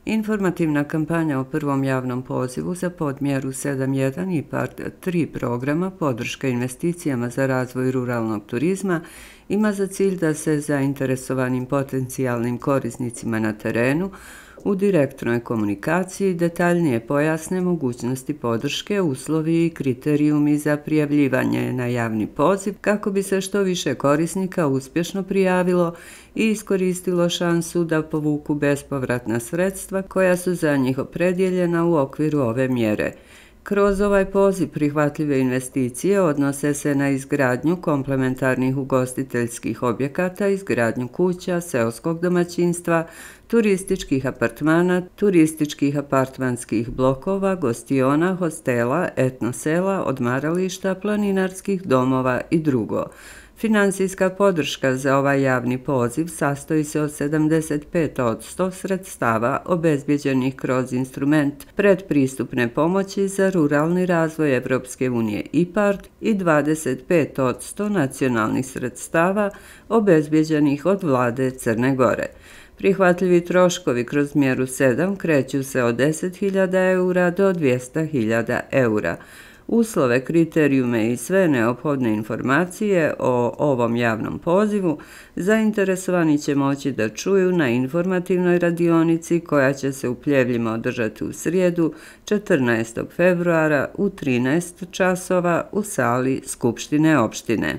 Informativna kampanja o prvom javnom pozivu za podmjeru 7.1 IPARD 3 programa podrška investicijama za razvoj ruralnog turizma ima za cilj da se zainteresovanim potencijalnim korisnicima na terenu u direktnoj komunikaciji detaljnije pojasne mogućnosti podrške, uslovi i kriterijumi za prijavljivanje na javni poziv kako bi se što više korisnika uspješno prijavilo i iskoristilo šansu da povuku bespovratna sredstva koja su za njih opredijeljena u okviru ove mjere. Kroz ovaj poziv prihvatljive investicije odnose se na izgradnju komplementarnih ugostiteljskih objekata, izgradnju kuća, seoskog domaćinstva, turističkih apartmana, turističkih apartmanskih blokova, gostiona, hostela, etnosela, odmarališta, planinarskih domova i drugo. Financijska podrška za ovaj javni poziv sastoji se od 75% sredstava obezbjeđenih kroz instrument predpristupne pomoći za ruralni razvoj Evropske unije IPARD i 25% nacionalnih sredstava obezbjeđenih od vlade Crne Gore. Prihvatljivi troškovi kroz mjeru 7 kreću se od 10.000 eura do 200.000 eura. Uslove, kriterijume i sve neophodne informacije o ovom javnom pozivu zainteresovani će moći da čuju na informativnoj radionici koja će se u Pljevljima održati u srijedu 14. februara u 13 časova u sali Skupštine opštine.